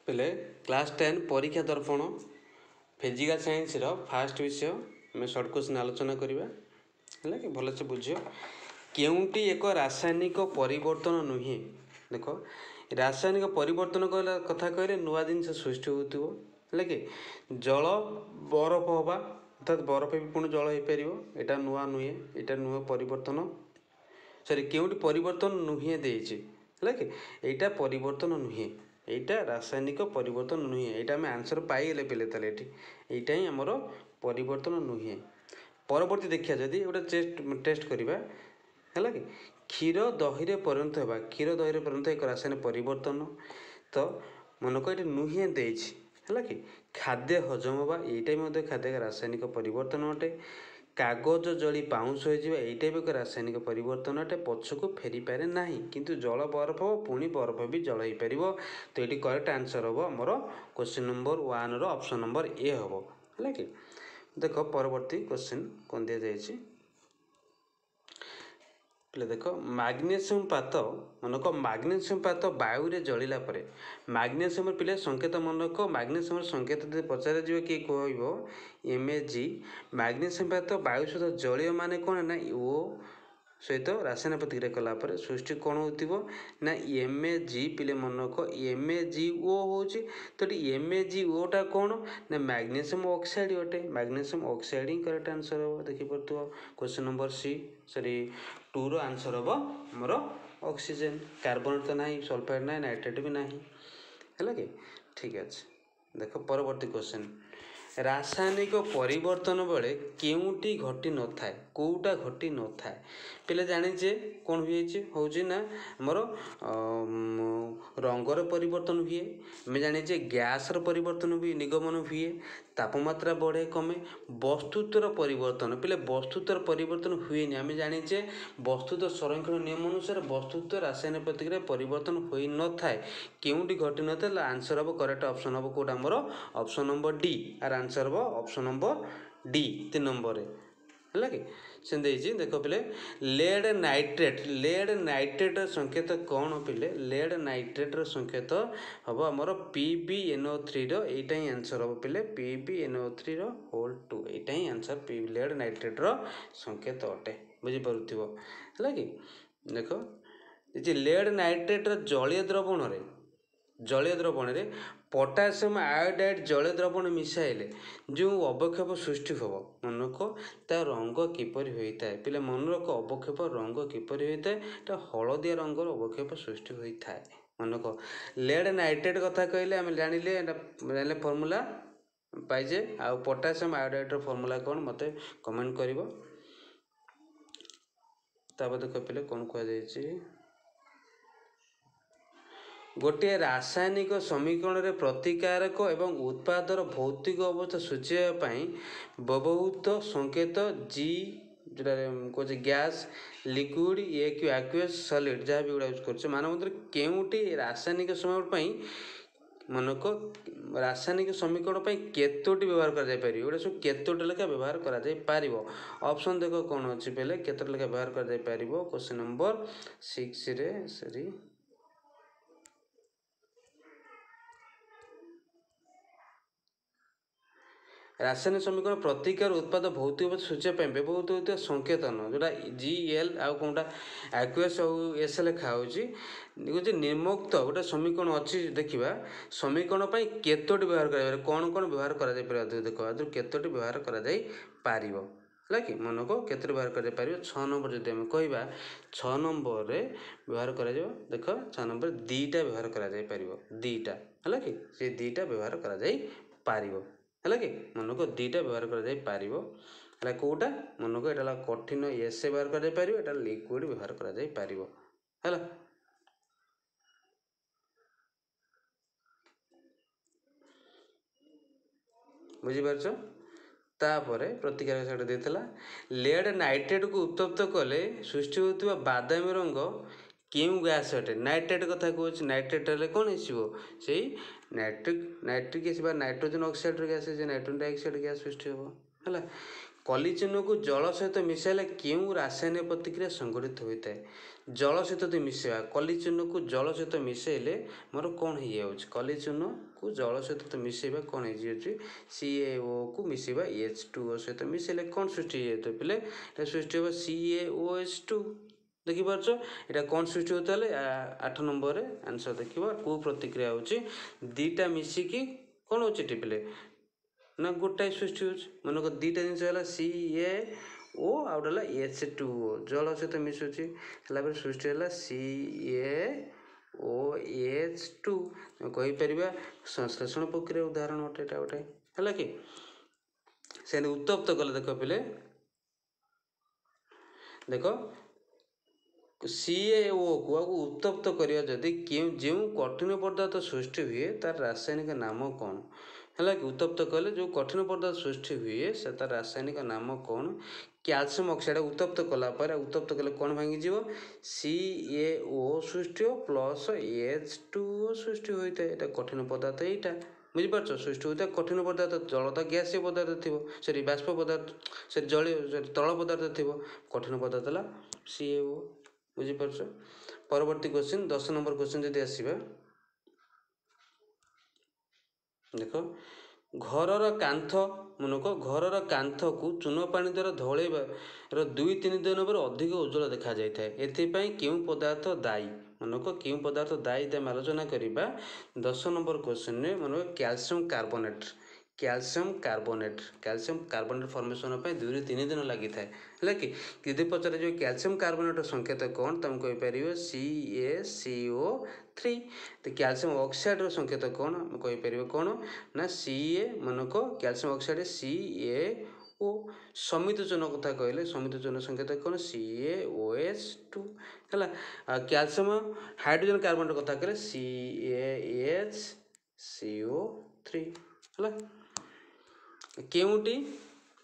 ପିଲେ, କ୍ଲାସ୍ 10 ପରୀକ୍ଷା ଦର୍ପଣ ଫିଜିକାଲ୍ ସାଇନ୍ସର ଫାଷ୍ଟ ବିଷୟ ଆମେ ସର୍ଟ କ୍ୱେଶ୍ଚିନ୍ ଆଲୋଚନା କରିବା। ହେଲା କି? ଭଲସେ ବୁଝିବ। କେଉଁଟି ଏକ ରାସାୟନିକ ପରିବର୍ତ୍ତନ ନୁହେଁ? ଦେଖ, ରାସାୟନିକ ପରିବର୍ତ୍ତନ କହିଲା କଥା କହିଲେ ନୂଆ ଜିନିଷ ସୃଷ୍ଟି ହେଉଥିବ। ହେଲା କି? ଜଳ ବରଫ ହେବା, ଅର୍ଥାତ୍ ବରଫ ବି ପୁଣି ଜଳ ହେଇପାରିବ, ଏଇଟା ନୂଆ ନୁହେଁ, ଏଇଟା ନୁହେଁ ପରିବର୍ତ୍ତନ। ସରି, କେଉଁଟି ପରିବର୍ତ୍ତନ ନୁହେଁ ଦେଇଛି। ହେଲା କି? ଏଇଟା ପରିବର୍ତ୍ତନ ନୁହେଁ, ଏଇଟା ରାସାୟନିକ ପରିବର୍ତ୍ତନ ନୁହେଁ। ଏଇଟା ଆମେ ଆନ୍ସର୍ ପାଇଗଲେ ପିଲେ। ତାହେଲେ ଏଠି ଏଇଟା ହିଁ ଆମର ପରିବର୍ତ୍ତନ ନୁହେଁ। ପରବର୍ତ୍ତୀ ଦେଖିବା, ଯଦି ଗୋଟେ ଟେଷ୍ଟ କରିବା। ହେଲା କି? କ୍ଷୀର ଦହିରେ ପରିଣତ ହେବା, କ୍ଷୀର ଦହିରେ ପରିଣତ ଏକ ରାସାୟନିକ ପରିବର୍ତ୍ତନ ତ ମନେକର ଏଠି ନୁହେଁ ଦେଇଛି। ହେଲା କି? ଖାଦ୍ୟ ହଜମ ହେବା, ଏଇଟା ବି ମଧ୍ୟ ଖାଦ୍ୟ ରାସାୟନିକ ପରିବର୍ତ୍ତନ ଅଟେ। କାଗଜ ଜଳି ପାଉଁଶ ହୋଇଯିବା, ଏଇଟା ବି ଏକ ରାସାୟନିକ ପରିବର୍ତ୍ତନ ଅଟେ। ପଛକୁ ଫେରିପାରେ ନାହିଁ, କିନ୍ତୁ ଜଳ ବରଫ ହେବ, ପୁଣି ବରଫ ବି ଜଳ ହେଇପାରିବ। ତ ଏଇଠି କରେକ୍ଟ ଆନ୍ସର୍ ହେବ ଆମର କ୍ୱେଶ୍ଚିନ୍ ନମ୍ବର 1ର ଅପସନ୍ ନମ୍ବର ଏ ହେବ। ହେଲା କି? ଦେଖ, ପରବର୍ତ୍ତୀ କ୍ୱେଶ୍ଚିନ୍ କ'ଣ ଦିଆଯାଇଛି ପିଲେ। ଦେଖ, ମାଗ୍ନେସିୟମ୍ ପାତ ମନେକ, ମାଗ୍ନେସିୟମ୍ ପାତ ବାୟୁରେ ଜଳିଲା ପରେ, ମାଗ୍ନେସିୟମର ପିଲେ ସଂକେତ ମନେକ, ମାଗ୍ନେସିୟମର ସଂକେତ ଯଦି ପଚରାଯିବ କିଏ କହିବ? M A G. Magnesium ପାତ ବାୟୁ ସହିତ ଜଳୀୟ ମାନେ କ'ଣ ନା ଓ ସହିତ ରାସାୟନିକ ପ୍ରତିକ୍ରିୟା କଲା ପରେ ସୃଷ୍ଟି କ'ଣ ହେଉଥିବ ନା ଏମ୍ ଏ ଜି। ପିଲେ ମନେକ, ଏମ୍ ଏ ଜି ଓ ହେଉଛି। ତ ଏଠି ଏମ୍ ଏ ଜି ଓଟା କ'ଣ ନା ମ୍ୟାଗ୍ନେସିୟମ୍ ଅକ୍ସାଇଡ଼୍ ଅଟେ। ମ୍ୟାଗ୍ନେସିୟମ୍ ଅକ୍ସାଇଡ଼୍ ହିଁ କରେକ୍ଟ ଆନ୍ସର୍ ହେବ। ଦେଖିପାରୁଥିବ, କ୍ୱେଶ୍ଚନ୍ ନମ୍ବର ସି ସରି 2ର ଆନ୍ସର୍ ହେବ ଆମର ଅକ୍ସିଜେନ୍। କାର୍ବୋନେଟ୍ ତ ନାହିଁ, ସଲଫାଇଡ଼୍ ନାହିଁ, ନାଇଟ୍ରେଟ୍ ବି ନାହିଁ। ହେଲା କି? ଠିକ୍ ଅଛି। ଦେଖ, ପରବର୍ତ୍ତୀ କ୍ୱେଶ୍ଚନ୍, ରାସାୟନିକ ପରିବର୍ତ୍ତନ ବେଳେ କେଉଁଟି ଘଟି ନଥାଏ? କେଉଁଟା ଘଟି ନଥାଏ? ପିଲେ ଜାଣିଛେ କ'ଣ ହୁଏ ହେଉଛି ନା ଆମର ରଙ୍ଗର ପରିବର୍ତ୍ତନ ହୁଏ। ଆମେ ଜାଣିଛେ ଗ୍ୟାସ୍ର ପରିବର୍ତ୍ତନ ହୁଏ, ନିଗମନ ହୁଏ, ତାପମାତ୍ରା ବଢ଼େ କମେ, ବସ୍ତୁତ୍ୱର ପରିବର୍ତ୍ତନ। ପିଲେ, ବସ୍ତୁତ୍ୱର ପରିବର୍ତ୍ତନ ହୁଏନି। ଆମେ ଜାଣିଛେ ବସ୍ତୁତ୍ୱ ସଂରକ୍ଷଣ ନିୟମ ଅନୁସାରେ ବସ୍ତୁତ୍ୱ ରାସାୟନିକ ପ୍ରତିକ୍ରିୟା ପରିବର୍ତ୍ତନ ହୋଇନଥାଏ। କେଉଁଟି ଘଟିନଥାଏ? ଆନ୍ସର୍ ହେବ, କରେକ୍ଟ ଅପସନ୍ ହେବ କେଉଁଟା ଆମର? Option number D. ଆର ଆନ୍ସର୍ ହେବ ଅପସନ୍ ନମ୍ବର ଡି, 3 ନମ୍ବରରେ। ହେଲା କି? ସେମିତି ହେଇଛି। ଦେଖ ପିଲେ, ଲେଡ୍ ନାଇଟ୍ରେଟ୍, ଲେଡ୍ ନାଇଟ୍ରେଟ୍ର ସଂକେତ କ'ଣ ପିଲେ? ଲେଡ୍ ନାଇଟ୍ରେଟ୍ର ସଂକେତ ହେବ ଆମର ପି ବି ଏନ୍ ଓ 3ର, ଏଇଟା ହିଁ ଆନ୍ସର୍ ହେବ ପିଲେ, ପି ବି ଏନ୍ ଓ 3ର ହୋଲ୍ 2। ଏଇଟା ହିଁ ଆନ୍ସର୍ ପି ଲେଡ୍ ନାଇଟ୍ରେଟ୍ର ସଂକେତ ଅଟେ। ବୁଝିପାରୁଥିବ? ହେଲା କି? ଦେଖ, ଯେ ଲେଡ୍ ନାଇଟ୍ରେଟ୍ର ଜଳୀୟ ଦ୍ରବଣରେ, ଜଳୀୟ ଦ୍ରବଣରେ ପଟାସିୟମ୍ ଆୟୋଡାଇଡ୍ ଜଳୀୟ ଦ୍ରବଣ ମିଶାଇଲେ ଯେଉଁ ଅବକ୍ଷେପ ସୃଷ୍ଟି ହେବ, ମନେରଖ, ତା ରଙ୍ଗ କିପରି ହୋଇଥାଏ? ପିଲା ମନେ ରଖ, ଅବକ୍ଷେପ ରଙ୍ଗ କିପରି ହୋଇଥାଏ? ଏଟା ହଳଦିଆ ରଙ୍ଗର ଅବକ୍ଷେପ ସୃଷ୍ଟି ହୋଇଥାଏ। ମନେରଖ, ଲେଡ୍ ନାଇଟ୍ରେଟ୍ କଥା କହିଲେ ଆମେ ଜାଣିଲେ, ଏଟା ଜାଣିଲେ, ଫର୍ମୁଲା ପାଇଛେ। ଆଉ ପଟାସିୟମ୍ ଆୟୋଡାଇଡ୍ର ଫର୍ମୁଲା କ'ଣ ମୋତେ କମେଣ୍ଟ କରିବ। ତାପରେ ଦେଖ ପିଲେ, କ'ଣ କୁହାଯାଇଛି। ଗୋଟିଏ ରାସାୟନିକ ସମୀକରଣରେ ପ୍ରତିକାରକ ଏବଂ ଉତ୍ପାଦର ଭୌତିକ ଅବସ୍ଥା ସୂଚାଇବା ପାଇଁ ବ୍ୟବହୃତ ସଂକେତ ଜି, ଯେଉଁଟା କହୁଛେ ଗ୍ୟାସ୍, ଲିକ୍ୱିଡ଼, ଏ କି ଆକ୍ୱିୟସ୍ ସଲିଡ୍, ଯାହା ବି ଗୁଡ଼ା ୟୁଜ୍ କରୁଛେ, ମାନ ମଧ୍ୟରେ କେଉଁଟି ରାସାୟନିକ ସମୀକରଣ ପାଇଁ, ମନେକ ରାସାୟନିକ ସମୀକରଣ ପାଇଁ କେତୋଟି ବ୍ୟବହାର କରାଯାଇପାରିବ? ଏଗୁଡ଼ା ସବୁ କେତୋଟି ଲେଖା ବ୍ୟବହାର କରାଯାଇପାରିବ? ଅପସନ୍ ଦେଖ କ'ଣ ଅଛି ବେଲେ, କେତୋଟି ଲେଖା ବ୍ୟବହାର କରାଯାଇପାରିବ? କ୍ୱେଶ୍ଚନ୍ ନମ୍ବର 6ରେ, ସରି, ରାସାୟନିକ ସମୀକରଣ ପ୍ରତିକାର ଉତ୍ପାଦ ଭୌତିକ ଅବସ୍ଥା ସୂଚାଇବା ପାଇଁ ବ୍ୟବହୃତ ହେଉଥିବା ସଂକେତନ ଯେଉଁଟା ଜି, ଏଲ୍ ଆଉ କେଉଁଟା ଆକ୍ୱିୟସ୍ ଆଉ ଏସ୍ ଲେଖା ହେଉଛି। କହୁଛି ନିମ୍ନୋକ୍ତ ଗୋଟେ ସମୀକରଣ ଅଛି, ଦେଖିବା ସମୀକରଣ ପାଇଁ କେତୋଟି ବ୍ୟବହାର କରାଯାଇପାରିବ, କ'ଣ କ'ଣ ବ୍ୟବହାର କରାଯାଇପାରିବ। ଦେଖ, ଆଦରୁ କେତୋଟି ବ୍ୟବହାର କରାଯାଇପାରିବ? ହେଲା କି? ମନେକ, କେତୋଟି ବ୍ୟବହାର କରାଯାଇପାରିବ? 6 ନମ୍ବର ଯଦି ଆମେ କହିବା, 6 ନମ୍ବରରେ ବ୍ୟବହାର କରାଯିବ। ଦେଖ, 6 ନମ୍ବର 2ଟା ବ୍ୟବହାର କରାଯାଇପାରିବ, 2ଟା। ହେଲା କି? ସେ 2ଟା ବ୍ୟବହାର କରାଯାଇପାରିବ। ହେଲା କି? ମନେକ, 2ଟା ବ୍ୟବହାର କରାଯାଇପାରିବ। ହେଲା, କେଉଁଟା ମନେକ? ଏଇଟା ହେଲା କଠିନ ଏସ୍ ବ୍ୟବହାର କରାଯାଇପାରିବ, ଏଇଟା ଲିକ୍ୱିଡ଼ ବ୍ୟବହାର କରାଯାଇପାରିବ। ହେଲା, ବୁଝିପାରୁଛ? ତାପରେ ପ୍ରତିକାରକ ସେଟା ଦେଇଥିଲା। ଲେଡ୍ ନାଇଟ୍ରେଟ୍କୁ ଉତ୍ତପ୍ତ କଲେ ସୃଷ୍ଟି ହେଉଥିବା ବାଦାମୀ ରଙ୍ଗ କେଉଁ ଗ୍ୟାସ୍ ଅଟେ? ନାଇଟ୍ରେଟ୍ କଥା କହୁଛି, ନାଇଟ୍ରେଟ୍ ହେଲେ କ'ଣ ଆସିବ? ସେଇ ନାଇଟ୍ରିକ୍ ଏସିଡ୍ ବା ନାଇଟ୍ରୋଜେନ୍ ଅକ୍ସାଇଡ଼୍ର ଗ୍ୟାସ୍, ସେ ନାଇଟ୍ରୋଜେନ୍ ଡାଇଅକ୍ସାଇଡ଼୍ ଗ୍ୟାସ୍ ସୃଷ୍ଟି ହେବ। ହେଲା, କଲିଚୂନକୁ ଜଳ ସହିତ ମିଶାଇଲେ କେଉଁ ରାସାୟନିକ ପ୍ରତିକ୍ରିୟା ସଂଘଟିତ ହୋଇଥାଏ? ଜଳ ସହିତ ଯଦି ମିଶାଇବା, କଲିଚୂନକୁ ଜଳ ସହିତ ମିଶାଇଲେ ମୋର କ'ଣ ହେଇଯାଉଛି? କଲିଚୂନକୁ ଜଳ ସହିତ ତ ମିଶାଇବା କ'ଣ ହେଇଯାଉଛି? ସି ଏ ଓ କୁ ମିଶାଇବା ଏଚ୍ ଟୁ ଓ ସହିତ ମିଶାଇଲେ କ'ଣ ସୃଷ୍ଟି ହେଇଯାଇଥିବ ପିଲେ? ଏଇଟା ସୃଷ୍ଟି ହେବ C A O H two. ଦେଖିପାରୁଛ ଏଇଟା କ'ଣ ସୃଷ୍ଟି ହେଉଥିଲା? ହେଲେ 8 ନମ୍ବରରେ ଆନ୍ସର୍ ଦେଖିବ କେଉଁ ପ୍ରତିକ୍ରିୟା ହେଉଛି? ଦୁଇଟା ମିଶିକି କ'ଣ ହେଉଛି ଏଠି ପିଲେ? ନା ଗୋଟାଏ ସୃଷ୍ଟି ହେଉଛି। ମନେକର ଦୁଇଟା ଜିନିଷ ହେଲା ସି ଏ ଓ ଆଉ ଗୋଟେ ହେଲା ଏଚ୍ ଟୁ ଓ, ଜଳ ସହିତ ମିଶୁଛି, ହେଲା ପରେ ସୃଷ୍ଟି ହେଲା C A O H two. କହିପାରିବା ସଂଶ୍ଳେଷଣ ପ୍ରକ୍ରିୟା ଉଦାହରଣ ଅଟେ ଏଇଟା ଗୋଟେ, ହେଲା କି? ସେମିତି ଉତ୍ତପ୍ତ କଲେ ଦେଖ ପିଲେ, ଦେଖ ସି ଏ ଓ କୁ ଆଉ ଉତ୍ତପ୍ତ କରିବା ଯଦି କେଉଁ ଯେଉଁ କଠିନ ପଦାର୍ଥ ସୃଷ୍ଟି ହୁଏ ତାର ରାସାୟନିକ ନାମ କ'ଣ? ହେଲା କି? ଉତ୍ତପ୍ତ କଲେ ଯେଉଁ କଠିନ ପଦାର୍ଥ ସୃଷ୍ଟି ହୁଏ ସେ ତାର ରାସାୟନିକ ନାମ କ'ଣ? କ୍ୟାଲସିୟମ୍ ଅକ୍ସାଇଡ଼୍ ଉତ୍ତପ୍ତ କଲା ପରେ, ଉତ୍ତପ୍ତ କଲେ କ'ଣ ଭାଙ୍ଗିଯିବ? ସି ଏ ଓ ସୃଷ୍ଟି ହେବ ପ୍ଲସ୍ ଏଚ୍ ଟୁ ଓ ସୃଷ୍ଟି ହୋଇଥାଏ। ଏଇଟା କଠିନ ପଦାର୍ଥ, ଏଇଟା ବୁଝିପାରୁଛ? ସୃଷ୍ଟି ହୋଇଥାଏ କଠିନ ପଦାର୍ଥ। ଜଳ ତ ଗ୍ୟାସୀୟ ପଦାର୍ଥ ଥିବ, ସରି ବାଷ୍ପ ପଦାର୍ଥ, ସରି ଜଳୀୟ, ସରି ତରଳ ପଦାର୍ଥ ଥିବ, କଠିନ ପଦାର୍ଥ ହେଲା ସି ଏ ଓ। ବୁଝିପାରୁଛ? ପରବର୍ତ୍ତୀ କ୍ୱେଶ୍ଚିନ୍ 10 ନମ୍ବର କ୍ୱେଶ୍ଚିନ୍ ଯଦି ଆସିବା ଦେଖ, ଘରର କାନ୍ଥ, ମନେକ ଘରର କାନ୍ଥକୁ ଚୂନ ପାଣି ଦ୍ୱାରା ଧୋଇବାର 2-3 ଦିନ ପରେ ଅଧିକ ଉଜ୍ଜଳ ଦେଖାଯାଇଥାଏ, ଏଥିପାଇଁ କେଉଁ ପଦାର୍ଥ ଦାୟୀ? ମନେକ କେଉଁ ପଦାର୍ଥ ଦାୟୀ ଆମେ ଆଲୋଚନା କରିବା 10 number କ୍ୱେଶ୍ଚିନ୍ରେ। ମନେକ calcium carbonate, calcium carbonate, calcium carbonate formation ପାଇଁ 2ରୁ 3 ଦିନ ଲାଗିଥାଏ, ହେଲା କି? ଯଦି ପଚରାଯିବ କ୍ୟାଲସିୟମ୍ କାର୍ବୋନେଟ୍ର ସଂକେତ କ'ଣ, ତୁମେ କହିପାରିବ C A C O three. ତ କ୍ୟାଲସିୟମ୍ ଅକ୍ସାଇଡ଼୍ର ସଂକେତ କ'ଣ ଆମେ କହିପାରିବ? କ'ଣ ନା ସି ଏ, ମନେକ calcium oxide C A O. ସମିତ ଚୂନ କଥା କହିଲେ ସମିତ ଚୂନ ସଂକେତ କ'ଣ? C A O H two, ହେଲା? ଆଉ କ୍ୟାଲସିୟମ୍ ହାଇଡ୍ରୋଜେନ୍ କାର୍ବୋନେଟ୍ କଥା କହିଲେ C A H C O three, ହେଲା? କେଉଁଟି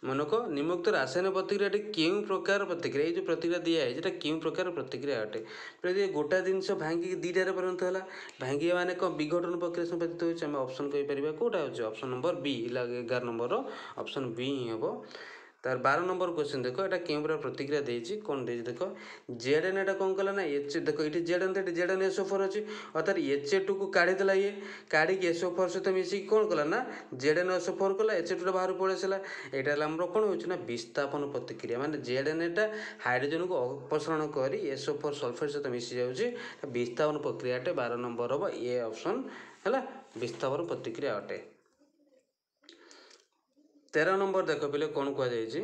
ମନେକ ନିମ୍ନୋକ୍ତ ରାସାୟନିକ ପ୍ରତିକ୍ରିୟାଟି କେଉଁ ପ୍ରକାର ପ୍ରତିକ୍ରିୟା? ଏଇ ଯେଉଁ ପ୍ରତିକ୍ରିୟା ଦିଆହେଇଛି ଏଇଟା କେଉଁ ପ୍ରକାର ପ୍ରତିକ୍ରିୟା ଅଟେ? ଯଦି ଗୋଟା ଜିନିଷ ଭାଙ୍ଗିକି ଦୁଇଟାରେ ପରିଣତ ହେଲା, ଭାଙ୍ଗିବା ମାନେ କ'ଣ? ବିଘଟନ ପ୍ରକ୍ରିୟା ସମ୍ପାଦିତ ହେଉଛି। ଆମେ ଅପସନ୍ କହିପାରିବା କେଉଁଟା ହେଉଛି? ଅପସନ୍ ନମ୍ବର ବି, 11 ନମ୍ବରର ଅପସନ୍ ବି ହିଁ ହେବ। ତାର 12 ନମ୍ବର କ୍ୱେଶ୍ଚିନ୍ ଦେଖ, ଏଇଟା କେଉଁ ପ୍ରକାର ପ୍ରତିକ୍ରିୟା ଦେଇଛି? କ'ଣ ଦେଇଛି ଦେଖ, ଜେଡ୍ ଏନ୍ ଏଟା କ'ଣ କଲା ନା ଏଚ୍, ଦେଖ ଏଇଠି ଜେଡ୍ ଏନ୍, ଏଠି ଜେଡ୍ ଏନ୍ ଏସ୍ ଓ ଫୋର୍ ଅଛି, ଅର୍ଥାତ୍ ଏଚ୍ ଏ ଟୁକୁ କାଢ଼ିଦେଲା ଇଏ, କାଢ଼ିକି ଏସ୍ ଓ ଫୋର୍ ସହିତ ମିଶିକି କ'ଣ କଲା ନା ଜେଡ୍ ଏନ୍ ଏସ୍ ଓ ଫୋର୍ କଲା, ଏଚ୍ ଏ ଟୁଟା ବାହାରକୁ ପଳେଇ ଆସିଲା। ଏଇଟା ହେଲା ଆମର କ'ଣ ହେଉଛି ନା ବିସ୍ଥାପନ ପ୍ରତିକ୍ରିୟା, ମାନେ ଜେଡ୍ ଏନ୍ ଏଟା ହାଇଡ୍ରୋଜେନକୁ ଅପସାରଣ କରି ଏସ୍ ଓ ଫୋର୍ ସଲଫେଟ୍ ସହିତ ମିଶି ଯାଉଛି, ବିସ୍ଥାପନ ପ୍ରକ୍ରିୟାଟେ। 12 ନମ୍ବର ହେବ ଏ ଅପସନ୍, ହେଲା ବିସ୍ଥାପନ ପ୍ରତିକ୍ରିୟା ଅଟେ। 13 ନମ୍ବର ଦେଖ ପିଲେ କ'ଣ କୁହାଯାଇଛି।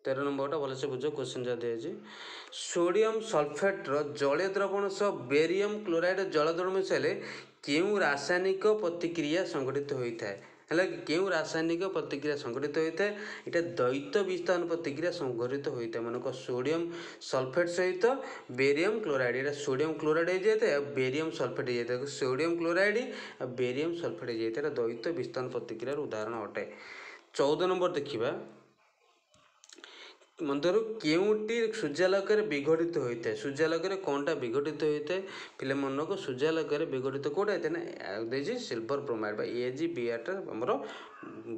13 ନମ୍ବରଟା ଭଲସେ ବୁଝ, କ୍ୱେଶ୍ଚିନ୍ ଯାହା ଦିଆଯାଇଛି। ସୋଡ଼ିୟମ୍ ସଲଫେଟ୍ର ଜଳୀୟ ଦ୍ରବଣ ସହ ବେରିୟମ୍ କ୍ଲୋରାଇଡ଼୍ ଜଳ ଦ୍ରବଣ ମିଶାଇଲେ କେଉଁ ରାସାୟନିକ ପ୍ରତିକ୍ରିୟା ସଂଘଟିତ ହୋଇଥାଏ? ହେଲା କି? କେଉଁ ରାସାୟନିକ ପ୍ରତିକ୍ରିୟା ସଂଘଟିତ ହୋଇଥାଏ? ଏଇଟା ଦ୍ୱୈତ ବିସ୍ଥାପନ ପ୍ରତିକ୍ରିୟା ସଂଘଟିତ ହୋଇଥାଏ। ମନେକର ସୋଡ଼ିୟମ୍ ସଲଫେଟ୍ ସହିତ ବେରିୟମ୍ କ୍ଲୋରାଇଡ଼୍, ଏଇଟା ସୋଡ଼ିୟମ୍ କ୍ଲୋରାଇଡ଼୍ ହେଇଯାଇଥାଏ ଆଉ ବେରିୟମ୍ ସଲଫେଟ୍ ହେଇଯାଇଥାଏ। ସୋଡ଼ିୟମ୍ କ୍ଲୋରାଇଡ଼୍ ଆଉ ବେରିୟମ୍ ସଲଫେଟ୍ ହେଇଯାଇଥାଏ, ଏଇଟା ଦ୍ୱୈତ ବିସ୍ଥାପନ ପ୍ରତିକ୍ରିୟାର ଉଦାହରଣ ଅଟେ। 14 ନମ୍ବର ଦେଖିବା, ମଧ୍ୟରୁ କେଉଁଟି ସୂର୍ଯ୍ୟାଲୋକରେ ବିଘଟିତ ହୋଇଥାଏ? ସୂର୍ଯ୍ୟାଲୋକରେ କ'ଣଟା ବିଘଟିତ ହୋଇଥାଏ ପିଲେ? ମନକୁ ସୂର୍ଯ୍ୟାଲୋକରେ ବିଘଟିତ କେଉଁଟା ହେଇଥାଏ ନା ଦେଇଛି ସିଲଭର ବ୍ରୋମାଇଡ଼୍ ବା ଏ ଜି ବି ଆର୍ଟା ଆମର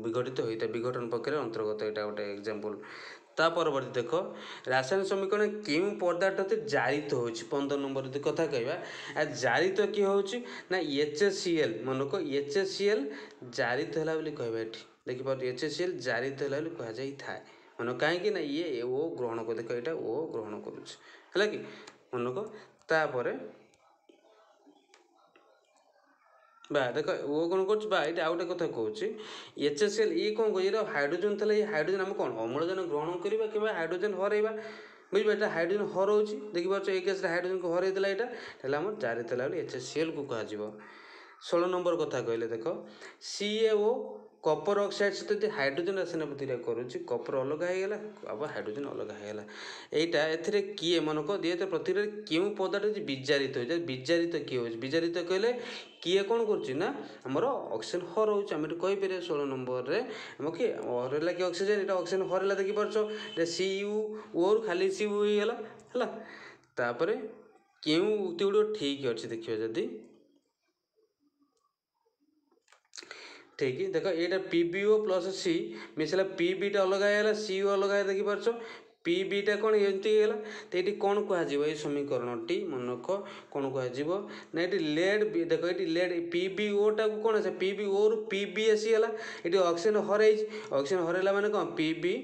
ବିଘଟିତ ହୋଇଥାଏ, ବିଘଟନ ପ୍ରକ୍ରିୟାର ଅନ୍ତର୍ଗତ ଏଇଟା ଗୋଟେ ଏକ୍ଜାମ୍ପଲ୍। ତା ପରବର୍ତ୍ତୀ ଦେଖ, ରାସାୟନିକ ସମୀକରଣ କେଉଁ ପଦାର୍ଥ ଜାରିତ ହେଉଛି? 15 ନମ୍ବର ଯଦି କଥା କହିବା, ଜାରିତ କିଏ ହେଉଛି ନା ଏଚ୍ ସି ଏଲ୍। ମନେକ ଏଚ୍ ସି ଏଲ୍ ଜାରିତ ହେଲା ବୋଲି କହିବା। ଏଠି ଦେଖିପାରୁଛୁ ଏଚ୍ ସି ଏଲ୍ ଜାରିତ ହେଲା ବୋଲି କୁହାଯାଇଥାଏ। ମନେ କାହିଁକି ନା ଇଏ ଓ ଗ୍ରହଣ କରୁ, ଦେଖ ଏଇଟା ଓ ଗ୍ରହଣ କରୁଛି, ହେଲା କି? ମନେକ ତାପରେ ବା ଦେଖ ଓ କ'ଣ କରୁଛି ବା ଏଇଟା ଆଉ ଗୋଟେ କଥା କହୁଛି, ଏଚ୍ ଏସ୍ ଏଲ୍ ଇଏ କ'ଣ କରୁଛି? ଏଇଟା ହାଇଡ୍ରୋଜେନ୍ ଥିଲା, ଏଇ ହାଇଡ୍ରୋଜେନ୍ ଆମେ କ'ଣ ଅମ୍ଳଜାନ ଗ୍ରହଣ କରିବା କିମ୍ବା ହାଇଡ୍ରୋଜେନ୍ ହରାଇବା, ବୁଝିପାରିଲ? ଏଇଟା ହାଇଡ୍ରୋଜେନ୍ ହରାଉଛି, ଦେଖିପାରୁଛ? ଏଇ କେସ୍ରେ ହାଇଡ୍ରୋଜେନ୍କୁ ହରାଇ ଦେଲା, ଏଇଟା ହେଲା ଆମର ଜାରିତ ହେଲା ବୋଲି ଏଚ୍ ଏସ୍ ସି ଏଲ୍କୁ କୁହାଯିବ। 16 ନମ୍ବର କଥା କହିଲେ ଦେଖ, C A O copper oxide ସହିତ ଯଦି ହାଇଡ୍ରୋଜେନ୍ ରାସାୟନିକ ପ୍ରତିକ୍ରିୟା କରୁଛି, କପର ଅଲଗା ହେଇଗଲା ଆଉ ହାଇଡ୍ରୋଜେନ୍ ଅଲଗା ହେଇଗଲା, ଏଇଟା ଏଥିରେ କିଏ ମନେକ ଦିଏ ପ୍ରତିକ୍ରିୟାରେ କେଉଁ ପଦାର୍ଥ ହେଉଛି ବିଜାରିତ ହେଉଛି? ବିଜାରିତ କିଏ ହେଉଛି? ବିଜାରିତ କହିଲେ କିଏ କ'ଣ କରୁଛି ନା ଆମର ଅକ୍ସିଜେନ୍ ହରଉଛି। ଆମେ ଏଠି କହିପାରିବା 16 ନମ୍ବରରେ ଆମ କିଏ ହରେଇଲା? କି ଅକ୍ସିଜେନ୍? ଏଇଟା ଅକ୍ସିଜେନ୍ ହରେଇଲା, ଦେଖିପାରୁଛ? ଏଇଟା ସି ୟୁ ଓରୁ ଖାଲି ସି ୟୁ ହେଇଗଲା, ହେଲା? ତାପରେ କେଉଁ ଉକ୍ତି ଗୁଡ଼ିକ ଠିକ୍ ଅଛି ଦେଖିବା ଯଦି, ଠିକ୍ ଦେଖ ଏଇଟା ପି ବି ଓ ପ୍ଲସ୍ ସି ମିଶିଲା, ପି ବିଟା ଅଲଗା ହେଇଗଲା, ସି ଓ ଅଲଗା ଦେଖିପାରୁଛ, ପି ବିଟା କ'ଣ ଏମିତି ହେଇଗଲା। ତ ଏଇଠି କ'ଣ କୁହାଯିବ ଏଇ ସମୀକରଣଟି ମନକ କ'ଣ କୁହାଯିବ ନା ଏଠି ଲେଡ୍, ଦେଖ ଏଠି ଲେଡ୍ ପି ବି ଓଟାକୁ କ'ଣ ସେ ପି ବି ଓରୁ ପି ବି ଆସିଗଲା, ଏଠି ଅକ୍ସିଜେନ୍ ହରେଇଛି, ଅକ୍ସିଜେନ୍ ହରେଇଲା ମାନେ କ'ଣ ପି ବି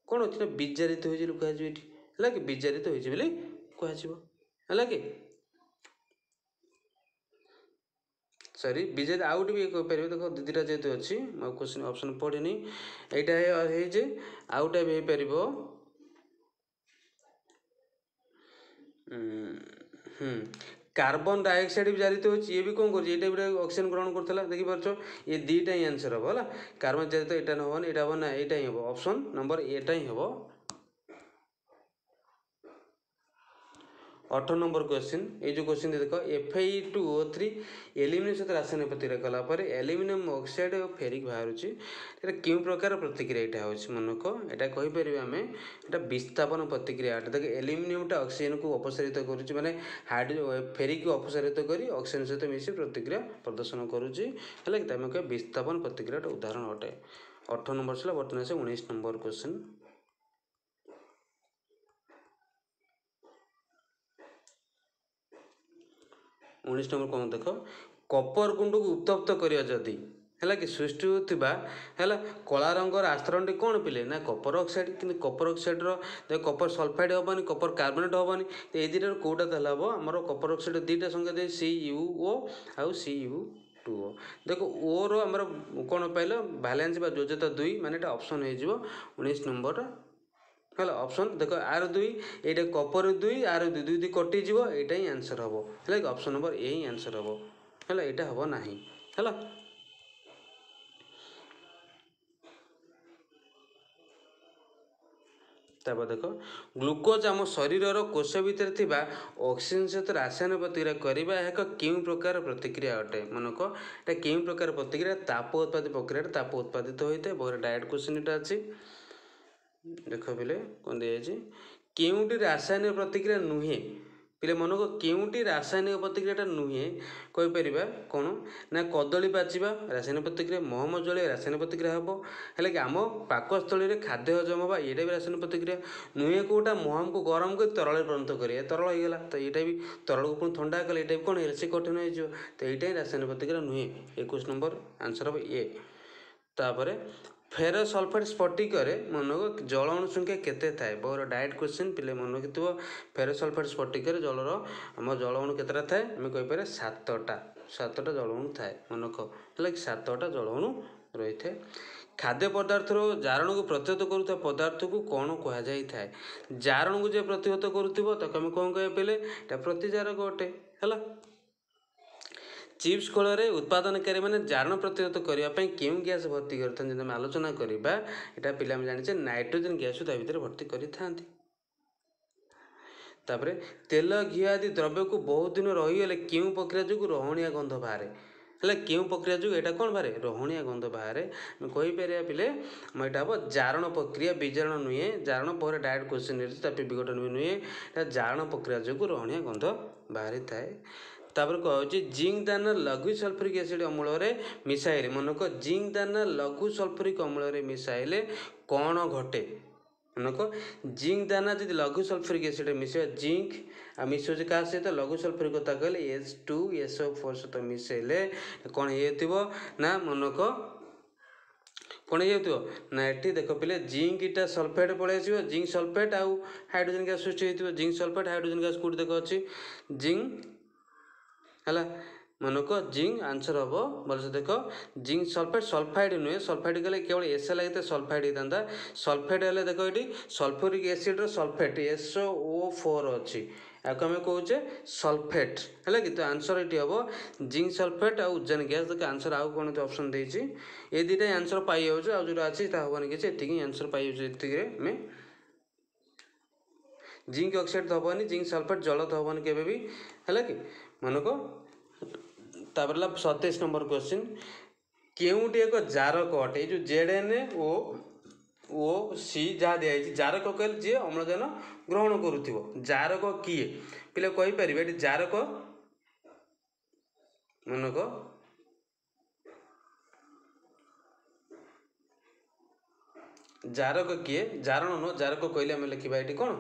କ'ଣ ଅଛି ନା ବିଜାରିତ ହୋଇଛି ବୋଲି କୁହାଯିବ ଏଠି, ହେଲା କି ବିଜାରିତ ହୋଇଛି ବୋଲି କୁହାଯିବ, ହେଲା କି ସରି ବିଜେପି ଆଉ ଗୋଟେ ବି କହିପାରିବେ। ଦେଖ ଦୁଇଟା ଯେହେତୁ ଅଛି ମୁଁ ଆଉ କ୍ୱେଶ୍ଚିନ୍ ଅପସନ୍ ପଢ଼ିନି, ଏଇଟା ହେଇଛି ଆଉ ଗୋଟେ ବି ହେଇପାରିବ। କାର୍ବନ ଡାଇଅକ୍ସାଇଡ଼ ବି ଜାରିତ ହେଉଛି, ଇଏ ବି କ'ଣ କରୁଛି, ଏଇଟା ବି ଅକ୍ସିଜେନ୍ ଗ୍ରହଣ କରୁଥିଲା, ଦେଖିପାରୁଛ, ଏ ଦୁଇଟା ହିଁ ଆନ୍ସର୍ ହେବ ହେଲା। କାର୍ବନ ଜାରିତ ଏଇଟା ହେବନି, ଏଇଟା ହେବ ନା, ଏଇଟା ହିଁ ହେବ, ଅପସନ୍ ନମ୍ବର ଏଟା ହିଁ ହେବ। 18 ନମ୍ବର କ୍ୱେଶ୍ଚିନ୍, ଏଇ ଯେଉଁ କ୍ୱେଶ୍ଚିନ୍ ଦେଖ F I two O three aluminium ସହିତ ରାସାୟନିକ ପ୍ରତିକ୍ରିୟା କଲା ପରେ ଆଲୁମିନିୟମ ଅକ୍ସାଇଡ଼ ଓ ଫେରିକ୍ ବାହାରୁଛି, ଏଇଟା କେଉଁ ପ୍ରକାର ପ୍ରତିକ୍ରିୟା ଏଇଟା ହେଉଛି ମନକ, ଏଇଟା କହିପାରିବା ଆମେ ଏଇଟା ବିସ୍ଥାପନ ପ୍ରତିକ୍ରିୟା ଅଟେ। ଦେଖ ଆଲୁମିନିୟମଟା ଅକ୍ସିଜେନକୁ ଅପସାରିତ କରୁଛି, ମାନେ ହାଇଡ୍ରୋ ଫେରିକକୁ ଅପସାରିତ କରି ଅକ୍ସିଜେନ ସହିତ ମିଶି ପ୍ରତିକ୍ରିୟା ପ୍ରଦର୍ଶନ କରୁଛି, ହେଲା କି ଆମେ କହିବା ବିସ୍ଥାପନ ପ୍ରତିକ୍ରିୟାଟା ଉଦାହରଣ ଅଟେ। 18 ନମ୍ବର ଥିଲା, ବର୍ତ୍ତମାନ ଆସେ 19 ନମ୍ବର କ୍ୱେଶ୍ଚିନ୍। 19 ନମ୍ବର କ'ଣ ଦେଖ, କପର ଗୁଣ୍ଡକୁ ଉତ୍ତପ୍ତ କରିବା ଯଦି ହେଲା କି ସୃଷ୍ଟି ହେଉଥିବା ହେଲା କଳା ରଙ୍ଗର ଆସ୍ତରଣଟି କ'ଣ ପିଲେ ନା କପର ଅକ୍ସାଇଡ଼। କିନ୍ତୁ କପର ଅକ୍ସାଇଡ଼ର ଦେଖ କପର ସଲଫାଇଡ଼ ହେବନି, କପର କାର୍ବୋନେଟ୍ ହେବନି, ତ ଏଇ ଦୁଇଟାରୁ କେଉଁଟା ତାହେଲେ ହେବ ଆମର କପର ଅକ୍ସାଇଡ଼ ଦୁଇଟା ସଂଖ୍ୟା ଦେଇ ସି ୟୁ ଓ ଆଉ ସି ୟୁ ଟୁ ଓ। ଦେଖ ଓର ଆମର କ'ଣ ପାଇଲ ଭାଲେନ୍ସ ବା ଯୋଜ୍ୟତା 2, ମାନେ ଏଇଟା ଅପସନ୍ ହେଇଯିବ 19 ନମ୍ବରଟା ହେଲା ଅପସନ୍। ଦେଖ ଆର 2, ଏଇଟା କପର 2, ଆର 2, 2 2 କଟିଯିବ, ଏଇଟା ହିଁ ଆନ୍ସର୍ ହେବ, ହେଲା କି ଅପସନ୍ ନମ୍ବର ଏ ହିଁ ଆନ୍ସର୍ ହେବ, ହେଲା ଏଇଟା ହେବ ନାହିଁ, ହେଲା। ତାପରେ ଦେଖ ଗ୍ଲୁକୋଜ୍ ଆମ ଶରୀରର କୋଷ ଭିତରେ ଥିବା ଅକ୍ସିଜେନ୍ ସହିତ ରାସାୟନିକ ପ୍ରତିକ୍ରିୟା କରିବା ଏହା ଏକ କେଉଁ ପ୍ରକାର ପ୍ରତିକ୍ରିୟା ଅଟେ? ମନେକ ଏଇଟା କେଉଁ ପ୍ରକାର ପ୍ରତିକ୍ରିୟା? ତାପ ଉତ୍ପାଦିତ ପ୍ରକ୍ରିୟାରେ ତାପ ଉତ୍ପାଦିତ ହୋଇଥାଏ। ବହୁତ ଡାଇରେକ୍ଟ କ୍ୱେଶ୍ଚିନ୍ ଏଇଟା ଅଛି। ଦେଖ ପିଲେ କ'ଣ ଦିଆଯାଇଛି, କେଉଁଟି ରାସାୟନିକ ପ୍ରତିକ୍ରିୟା ନୁହେଁ? ପିଲେ ମନେକ କେଉଁଟି ରାସାୟନିକ ପ୍ରତିକ୍ରିୟାଟା ନୁହେଁ କହିପାରିବା କ'ଣ ନା କଦଳୀ ପାଚିବା ରାସାୟନିକ ପ୍ରତିକ୍ରିୟା, ମହମ ଜଳିବା ରାସାୟନିକ ପ୍ରତିକ୍ରିୟା ହେବ, ହେଲେ କି ଆମ ପାକସ୍ଥଳୀରେ ଖାଦ୍ୟ ହଜମ ହେବା ଏଇଟା ବି ରାସାୟନିକ ପ୍ରତିକ୍ରିୟା ନୁହେଁ। କେଉଁଟା ମହମକୁ ଗରମ କରି ତରଳରେ ପରିଣତ କରିବା, ତରଳ ହେଇଗଲା ତ ଏଇଟା ବି ତରଳକୁ ପୁଣି ଥଣ୍ଡା କଲେ ଏଇଟା ବି କ'ଣ ହେଇଗଲା ସେ କଠିନ ହେଇଯିବ, ତ ଏଇଟା ହିଁ ରାସାୟନିକ ପ୍ରତିକ୍ରିୟା ନୁହେଁ। 21 ନମ୍ବର ଆନ୍ସର୍ ହେବ ଏ। ତାପରେ ଫେରୋସଲଫେଟ୍ ସ୍ଫଟିକରେ ମନେକ ଜଳ ଅଣୁ ସଂଖ୍ୟା କେତେ ଥାଏ? ବହୁତ ଡାଇରେକ୍ଟ କ୍ୱେଶ୍ଚିନ୍ ପିଲେ ମନେ ରଖିଥିବ। ଫେରୋସଲଫେଟ୍ ସ୍ଫଟିକରେ ଜଳର ଆମ ଜଳ ଅଣୁ କେତେଟା ଥାଏ? ଆମେ କହିପାରିବା 7ଟା, 7ଟା ଜଳ ଅଣୁ ଥାଏ ମନେକ, ହେଲା କି 7ଟା ଜଳ ଅଣୁ ରହିଥାଏ। ଖାଦ୍ୟ ପଦାର୍ଥର ଜାରଣକୁ ପ୍ରତିହତ କରୁଥିବା ପଦାର୍ଥକୁ କ'ଣ କୁହାଯାଇଥାଏ? ଜାରଣକୁ ଯେ ପ୍ରତିହତ କରୁଥିବ ତାକୁ ଆମେ କ'ଣ କହିବା ପିଲେ? ଏଇଟା ପ୍ରତିଜାରକ ଅଟେ, ହେଲା। ଚିପ୍ସ ଖୋଳରେ ଉତ୍ପାଦନକାରୀମାନେ ଜାରଣ ପ୍ରତିହତ କରିବା ପାଇଁ କେଉଁ ଗ୍ୟାସ୍ ଭର୍ତ୍ତି କରିଥାନ୍ତି? ଯଦି ଆମେ ଆଲୋଚନା କରିବା ଏଇଟା ପିଲା ଆମେ ଜାଣିଛେ ନାଇଟ୍ରୋଜେନ୍ ଗ୍ୟାସ୍କୁ ତା ଭିତରେ ଭର୍ତ୍ତି କରିଥାନ୍ତି। ତାପରେ ତେଲ ଘିଅ ଆଦି ଦ୍ରବ୍ୟକୁ ବହୁତ ଦିନ ରହିଗଲେ କେଉଁ ପ୍ରକ୍ରିୟା ଯୋଗୁଁ ରହଣିଆ ଗନ୍ଧ ବାହାରେ? ହେଲେ କେଉଁ ପ୍ରକ୍ରିୟା ଯୋଗୁଁ ଏଇଟା କ'ଣ ବାହାରେ? ରହଣିଆ ଗନ୍ଧ ବାହାରେ। ଆମେ କହିପାରିବା ପିଲେ ଆମ ଏଇଟା ହେବ ଜାରଣ ପ୍ରକ୍ରିୟା, ବିଜାରଣ ନୁହେଁ। ଜାରଣ ପରେ ଡାଇରେକ୍ଟ କ୍ୱେଶ୍ଚିନ୍ ଅଛି, ତା ବିଘଟନ ବି ନୁହେଁ, ଏଇଟା ଜାରଣ ପ୍ରକ୍ରିୟା ଯୋଗୁଁ ରହଣିଆ ଗନ୍ଧ ବାହାରିଥାଏ। ତାପରେ କୁହାଯାଉଛି ଜିଙ୍କ ଦାନା ଲଘୁ ସଲଫ୍ୟୁରିକ୍ ଏସିଡ୍ ଅମ୍ଳରେ ମିଶାଇଲେ, ମନେକ ଜିଙ୍କ ଦାନା ଲଘୁ ସଲଫ୍ୟୁରିକ୍ ଅମ୍ଳରେ ମିଶାଇଲେ କ'ଣ ଘଟେ? ମନେକ ଜିଙ୍କ ଦାନା ଯଦି ଲଘୁ ସଲଫ୍ୟୁରିକ୍ ଏସିଡ୍ ମିଶାଇବା, ଜିଙ୍କ ଆଉ ମିଶାଉଛି କାହା ସହିତ? ଲଘୁ ସଲଫ୍ୟୁରିକ୍ କଥା କହିଲେ H2SO4 ସହିତ ମିଶାଇଲେ କ'ଣ ହେଇଯାଇଥିବ ନା ମନେକ କ'ଣ ହେଇଯାଉଥିବ ନା ଏଠି ଦେଖ ପିଲେ ଜିଙ୍କଟା ସଲଫେଟ୍ ପଳେଇ ଆସିବ, ଜିଙ୍କ ସଲଫେଟ୍ ଆଉ ହାଇଡ୍ରୋଜେନ୍ ଗ୍ୟାସ୍ ସୃଷ୍ଟି ହେଇଥିବ। ଜିଙ୍କ ସଲଫେଟ୍ ହାଇଡ୍ରୋଜେନ୍ ଗ୍ୟାସ୍ କେଉଁଠି ଦେଖ ଅଛି ଜିଙ୍କ, ହେଲା ମନେକ ଜିଙ୍କ ଆନ୍ସର୍ ହେବ ଭଲସେ ଦେଖ। ଜିଙ୍କ ସଲଫେଟ୍ ସଲଫାଇଡ଼୍ ନୁହେଁ, ସଲଫାଇଡ଼୍ କଲେ କେବଳ ଏସ୍ ଲାଗିଥାଏ ସଲଫାଇଡ଼୍ ହେଇଥାନ୍ତା। ସଲଫେଟ୍ ହେଲେ ଦେଖ ଏଠି ସଲଫ୍ୟୁରିକ୍ ଏସିଡ଼୍ର ସଲଫେଟ୍ SO4 ଅଛି, ୟାକୁ ଆମେ କହୁଛେ ସଲଫେଟ୍, ହେଲା କି। ତ ଆନ୍ସର୍ ଏଠି ହେବ ଜିଙ୍କ ସଲଫେଟ୍ ଆଉ ଉଜାନ ଗ୍ୟାସ୍। ଦେଖ ଆନ୍ସର୍ ଆଉ କ'ଣ ଅପସନ୍ ଦେଇଛି, ଏ ଦୁଇଟା ଆନ୍ସର୍ ପାଇଯାଉଛୁ, ଆଉ ଯେଉଁଟା ଅଛି ତା ହେବନି କିଛି, ଏତିକି ହିଁ ଆନ୍ସର୍ ପାଇଯାଉଛୁ। ଏତିକିରେ ଆମେ ଜିଙ୍କ ଅକ୍ସାଇଡ଼୍ ତ ହେବନି, ଜିଙ୍କ ସଲଫେଟ୍ ଜଳ ତ ହେବନି କେବେ ବି, ହେଲା କି ମନେକ। ତାପରେ ହେଲା 27 ନମ୍ବର କ୍ୱେଶ୍ଚିନ୍, କେଉଁଟି ଏକ ଜାରକ ଅଟେ? ଏଇ ଯେଉଁ ZnO ଓ ସି ଯାହା ଦିଆଯାଇଛି, ଜାରକ କହିଲେ ଯିଏ ଅମ୍ଳଜାନ ଗ୍ରହଣ କରୁଥିବ, ଜାରକ କିଏ ପିଲା କହିପାରିବେ? ଏଠି ଜାରକ ମନେକ ଜାରକ କିଏ? ଜାରଣ ନୁହଁ, ଜାରକ କହିଲେ ଆମେ ଲେଖିବା ଏଠି କ'ଣ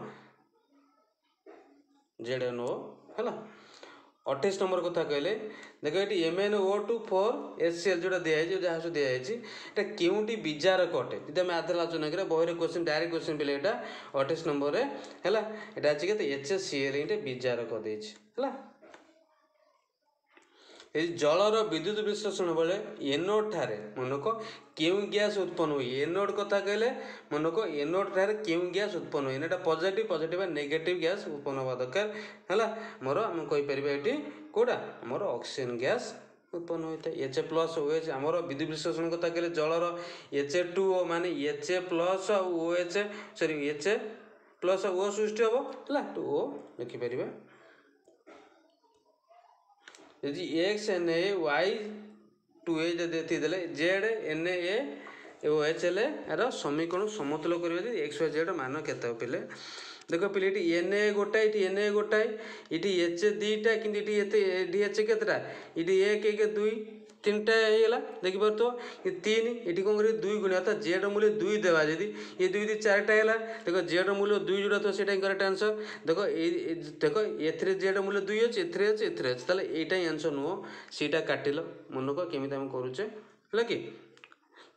ଜେଡ୍ ଏନ୍ ଓ ହେଲା। 28 ନମ୍ବର କଥା କହିଲେ ଦେଖ ଏଠି MnO2 4 HCl ଯେଉଁଟା ଦିଆଯାଇଛି, ଯାହା ସବୁ ଦିଆଯାଇଛି, ଏଇଟା କେଉଁଟି ବିଜାରକ ଅଟେ? ଯଦି ଆମେ ଆଧାର ଆଲୋଚନା କରିବା, ବହିରେ କ୍ୱେଶ୍ଚିନ୍, ଡାଇରେକ୍ଟ କ୍ୱେଶ୍ଚିନ୍ ପିଲେ ଏଇଟା 28 ନମ୍ବରରେ ହେଲା। ଏଇଟା ଅଛି କେତେ? HCl ଏଇଟା ବିଜାରକ ଦେଇଛି ହେଲା। ଏଇ ଜଳର ବିଦ୍ୟୁତ ବିଶ୍ଳେଷଣ ବେଳେ ଏନୋଡ୍ ଠାରେ ମନେକ କେଉଁ ଗ୍ୟାସ୍ ଉତ୍ପନ୍ନ ହୁଏ? ଏନୋଡ୍ କଥା କହିଲେ ମନେକ ଏନୋଡ୍ ଠାରେ କେଉଁ ଗ୍ୟାସ୍ ଉତ୍ପନ୍ନ ହୁଏ? ଏଇଟା ପଜିଟିଭ୍, ପଜିଟିଭ୍ ବା ନେଗେଟିଭ୍ ଗ୍ୟାସ୍ ଉତ୍ପନ୍ନ ହେବା ଦରକାର ହେଲା। ମୋର ଆମେ କହିପାରିବା ଏଠି କେଉଁଟା? ଆମର ଅକ୍ସିଜେନ୍ ଗ୍ୟାସ୍ ଉତ୍ପନ୍ନ ହୋଇଥାଏ, ଏଚ୍ ପ୍ଲସ୍ ଓ ଏଚ୍। ଆମର ବିଦ୍ୟୁତ ବିଶ୍ଳେଷଣ କଥା କହିଲେ ଜଳର H2O ମାନେ ଏଚ୍ ପ୍ଲସ୍ ଆଉ ଓ ଏଚ୍, ସରି, ଏଚ୍ ପ୍ଲସ୍ ଓ ସୃଷ୍ଟି ହେବ ହେଲା, ଟୁ ଓ ଲେଖିପାରିବା। ଯଦି X N A Y two A ଯଦି ଏତିକି ଦେଲେ, Z N A O H ହେଲେ ଏହାର ସମୀକରଣ ସମତୁଲ କରିବା ଯଦି ଏକ୍ସ ୱାଇ ଜେଡ଼୍ ମାନ କେତେ ହେବ ପିଲେ? ଦେଖ ପିଲେ, ଏଠି ଏନ୍ ଏ ଗୋଟାଏ, ଏଠି ଏନ୍ ଏ ଗୋଟାଏ, ଏଠି ଏଚ୍ ଦୁଇଟା, କିନ୍ତୁ ଏଠି ଏତେ, ଏଠି ଏଚ୍ କେତେଟା? ଏଠି 1, 1, 2, 3ଟା ହେଇଗଲା, ଦେଖିପାରୁଥିବ ଏ 3। ଏଠି କ'ଣ କରିବେ? 2 ଗୁଣି, ଅର୍ଥାৎ ଜେଡ଼୍ର ମୂଲ୍ୟ 2 ଦେବା ଯଦି, ଏ 2 2 4ଟା ହେଲା। ଦେଖ, ଜେଡ଼୍ର ମୂଲ୍ୟ 2 ଯେଉଁଟା ଥିବ ସେଇଟା ହିଁ କରେକ୍ଟ ଆନ୍ସର୍। ଦେଖ, ଏଇ ଦେଖ, ଏଥିରେ ଜେଡ଼୍ର ମୂଲ୍ୟ 2 ଅଛି, ଏଥିରେ ଅଛି, ଏଥିରେ ଅଛି, ତାହେଲେ ଏଇଟା ହିଁ ଆନ୍ସର୍ ନୁହଁ, ସେଇଟା କାଟିଲ। ମନକ କେମିତି ଆମେ କରୁଛେ ହେଲା କି?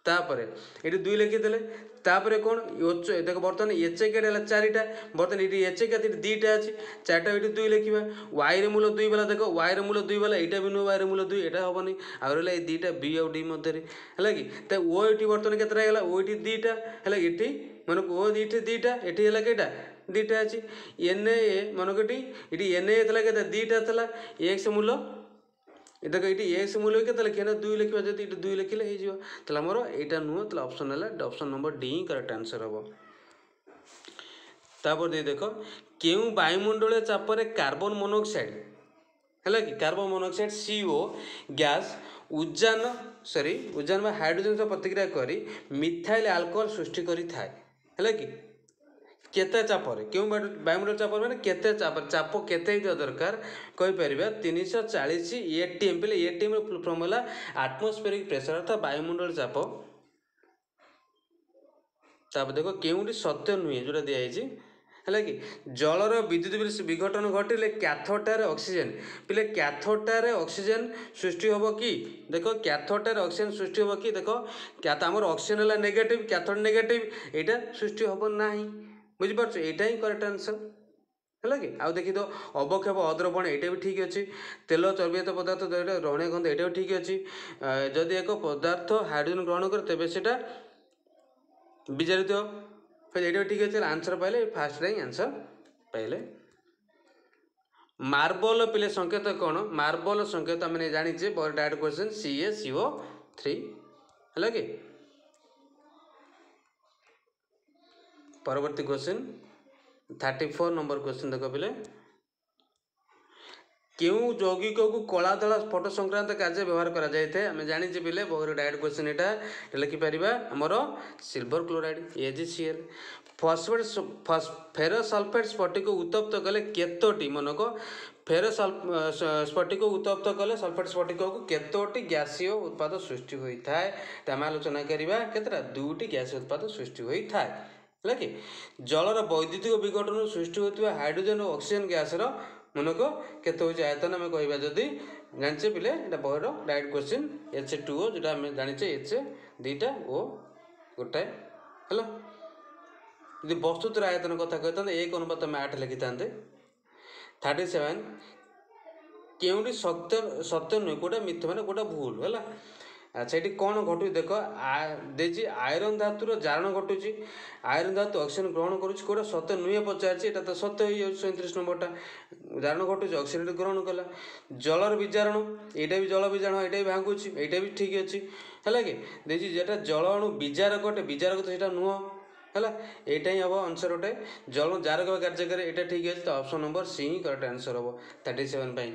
ତାପରେ ଏଠି 2 ଲେଖିଦେଲେ, ତାପରେ କ'ଣ ଓଚ? ଦେଖ, ବର୍ତ୍ତମାନ ଏଚ୍ କେଟ୍ ହେଲା 4ଟା, ବର୍ତ୍ତମାନ ଏଠି ଏଚ୍ କେତେ? ଏଠି 2ଟା ଅଛି, 4ଟା, ଏଠି 2 ଲେଖିବା। ୱାଇର ମୂଲ୍ୟ 2 ବାଲା, ଦେଖ, ୱାଇର ମୂଲ୍ୟ 2 ବାଲା ଏଇଟା ବି ନୁହଁ, ୱାଇର ମୂଲ୍ୟ 2 ଏଇଟା ହେବନି। ଆଉ ରହିଲା ଏଇ 2ଟା, ବି ଆଉ ଡି ମଧ୍ୟରେ ହେଲା କି? ତ ଓ ଏଠି ବର୍ତ୍ତମାନ କେତେଟା ହେଇଗଲା? ଓ ଏଠି 2ଟା ହେଲା, ଏଠି ମାନେ ଓ ଏଠି 2ଟା, ଏଠି ହେଲା କେଇଟା? 2ଟା ଅଛି। ଏନ୍ ଏ ମନେକ ଏଠି ଏନ୍ ଏ ଥିଲା କେତେ? 2ଟା ଥିଲା। ଏକ୍ସ ମୂଲ୍ୟ ଦେଖ, ଏଇଠି ଏକ୍ସ ମୂଲ୍ୟ କେତେ ଲେଖିବା ନା 2 ଲେଖିବା। ଯଦି ଏଠି 2 ଲେଖିଲେ ହେଇଯିବ, ତାହେଲେ ଆମର ଏଇଟା ନୁହଁ, ତାହେଲେ ଅପସନ୍ ହେଲା ଅପସନ୍ ନମ୍ବର ଡି ହିଁ କରେକ୍ଟ ଆନ୍ସର୍ ହେବ। ତାପରେ ଦେଇ ଦେଖ, କେଉଁ ବାୟୁମଣ୍ଡଳୀୟ ଚାପରେ କାର୍ବନ ମୋନୋକ୍ସାଇଡ୍ ହେଲା କି, କାର୍ବନ ମୋନୋକ୍ସାଇଡ୍ CO gas ଉଜାନ, ସରି, ଉଜାନ ବା ହାଇଡ୍ରୋଜେନ୍ ସହ ପ୍ରତିକ୍ରିୟା କରି ମିଥାଇଲ୍ ଆଲକୋହଲ ସୃଷ୍ଟି କରିଥାଏ ହେଲା କି? କେତେ ଚାପରେ, କେଉଁ ବାୟୁମଣ୍ଡଳ ଚାପରେ, ମାନେ କେତେ ଚାପ, ଚାପ କେତେ ହେଇଥିବା ଦରକାର କହିପାରିବା? 340 ATM ପିଲେ। ଏଟିଏମ୍ର ଫୁଲ୍ ଫର୍ମ ହେଲା ଆଟମୋସ୍ଫେରିକ୍ ପ୍ରେସର, ଅର୍ଥାତ୍ ବାୟୁମଣ୍ଡଳ ଚାପ। ତାପରେ ଦେଖ, କେଉଁଠି ସତ୍ୟ ନୁହେଁ ଯେଉଁଟା ଦିଆହେଇଛି ହେଲା କି? ଜଳର ବିଦ୍ୟୁତ ବିଘଟନ ଘଟିଲେ କ୍ୟାଥୋଡଠାରେ ଅକ୍ସିଜେନ୍, ପିଲେ କ୍ୟାଥୋଡଠାରେ ଅକ୍ସିଜେନ୍ ସୃଷ୍ଟି ହେବ କି? ଦେଖ, କ୍ୟାଥୋଡଠାରେ ଅକ୍ସିଜେନ୍ ସୃଷ୍ଟି ହେବ କି? ଦେଖ, ଆମର ଅକ୍ସିଜେନ୍ ହେଲା ନେଗେଟିଭ୍, କ୍ୟାଥୋଡ ନେଗେଟିଭ୍, ଏଇଟା ସୃଷ୍ଟି ହେବ ନାହିଁ। ବୁଝିପାରୁଛ? ଏଇଟା ହିଁ କରେକ୍ଟ ଆନ୍ସର୍ ହେଲା କି? ଆଉ ଦେଖିଦିଅ, ଅବକ୍ଷେପ ଅଦ୍ରବଣ, ଏଇଟା ବି ଠିକ୍ ଅଛି। ତେଲ ଚର୍ବିଜାତ ପଦାର୍ଥ ଏଇଟା ରହଣୀୟ ଗନ୍ଧ, ଏଇଟା ବି ଠିକ୍ ଅଛି। ଯଦି ଏକ ପଦାର୍ଥ ହାଇଡ୍ରୋଜେନ୍ ଗ୍ରହଣ କରେ ତେବେ ସେଇଟା ବିଜାରିତ, ଏଇଟା ବି ଠିକ୍ ଅଛି। ଆନ୍ସର୍ ପାଇଲେ ଫାର୍ଷ୍ଟରେ ହିଁ ଆନ୍ସର୍ ପାଇଲେ। ମାର୍ବଲ ପିଲେ ସଂକେତ କ'ଣ? ମାର୍ବଲ ସଂକେତ ଆମେ ଜାଣିଛେ, ଡାଇରେକ୍ଟ କ୍ୱେଶ୍ଚନ୍, CaCO3 ହେଲା କି? ପରବର୍ତ୍ତୀ କ୍ୱେଶ୍ଚିନ୍ 34 ନମ୍ବର କ୍ୱେଶ୍ଚିନ୍ ଦେଖ ପିଲେ, କେଉଁ ଯୌଗିକକୁ କଳା ଧଳା ଫଟୋ ସଂକ୍ରାନ୍ତ କାର୍ଯ୍ୟ ବ୍ୟବହାର କରାଯାଇଥାଏ? ଆମେ ଜାଣିଛେ ପିଲେ, ବହିର ଡାଇରେକ୍ଟ କ୍ୱେଶ୍ଚିନ୍ ଏଇଟା ଲେଖିପାରିବା, ଆମର ସିଲଭର କ୍ଲୋରାଇଡ୍ AgCl। ଫସଫେଟ୍, ଫେରୋସଲଫେଟ୍ ସ୍ଫଟିକ ଉତ୍ତପ୍ତ କଲେ କେତୋଟି, ମନକ ଫେରୋ ସ୍ଫଟିକ ଉତ୍ତପ୍ତ କଲେ ସଲଫେଟ୍ ସ୍ଫଟିକକୁ କେତୋଟି ଗ୍ୟାସୀୟ ଉତ୍ପାଦ ସୃଷ୍ଟି ହୋଇଥାଏ? ଆମେ ଆଲୋଚନା କରିବା କେତେଟା? 2ଟି ଗ୍ୟାସୀୟ ଉତ୍ପାଦ ସୃଷ୍ଟି ହୋଇଥାଏ ହେଲା କି? ଜଳର ବୈଦ୍ୟୁତିକ ବିଘଟନରୁ ସୃଷ୍ଟି ହେଉଥିବା ହାଇଡ୍ରୋଜେନ୍ ଓ ଅକ୍ସିଜେନ୍ ଗ୍ୟାସ୍ର ମନେକ କେତେ ହେଉଛି ଆୟତନ ଆମେ କହିବା ଯଦି, ଜାଣିଛେ ପିଲେ, ଏଇଟା ବହିର ଡାଇରେକ୍ଟ କ୍ୱେଶ୍ଚିନ୍, H2O ଯେଉଁଟା ଆମେ ଜାଣିଛେ, ଏଚ୍ 2ଟା ଓ ଗୋଟାଏ ହେଲା। ଯଦି ବସ୍ତୁତ୍ୱର ଆୟତନ କଥା କହିଥାନ୍ତେ, 1 ଅନୁପାତ ଆମେ 8 ଲେଖିଥାନ୍ତେ। 37, କେଉଁଟି ସତ୍ୟ, ସତ୍ୟ ନୁହେଁ, କେଉଁଟା ମିଥ୍ୟ, ମାନେ କେଉଁଟା ଭୁଲ ହେଲା? ଆଚ୍ଛା, ଏଠି କ'ଣ ଘଟୁଛି ଦେଖ ଦେଇଛି। ଆଇରନ୍ ଧାତୁର ଜାରଣ ଘଟୁଛି, ଆଇରନ୍ ଧାତୁ ଅକ୍ସିଜେନ୍ ଗ୍ରହଣ କରୁଛି, କେଉଁଟା ସତ୍ୟ ନୁହେଁ ପଚାରିଛି। ଏଇଟା ତ ସତ୍ୟ ହେଇଯାଉଛି 37 ନମ୍ବରଟା, ଜାରଣ ଘଟୁଛି, ଅକ୍ସିଜେନ୍ ଗ୍ରହଣ କଲା। ଜଳର ବିଜାରଣ, ଏଇଟା ବି ଜଳ ବିଜାରଣ, ଏଇଟା ବି ଭାଙ୍ଗୁଛି, ଏଇଟା ବି ଠିକ୍ ଅଛି ହେଲା କି? ଦେଇଛି ଯେଟା ଜଳ ଅଣୁ ବିଜାରକ ଅଟେ, ବିଜାରକ ତ ସେଇଟା ନୁହଁ ହେଲା, ଏଇଟା ହିଁ ହେବ ଆନ୍ସର୍ ଗୋଟେ। ଜଳ ଜାରକ କାର୍ଯ୍ୟ କରେ, ଏଇଟା ଠିକ୍ ଅଛି, ତ ଅପସନ୍ ନମ୍ବର ସି ହିଁ କରେକ୍ଟ ଆନ୍ସର୍ ହେବ 37 ପାଇଁ।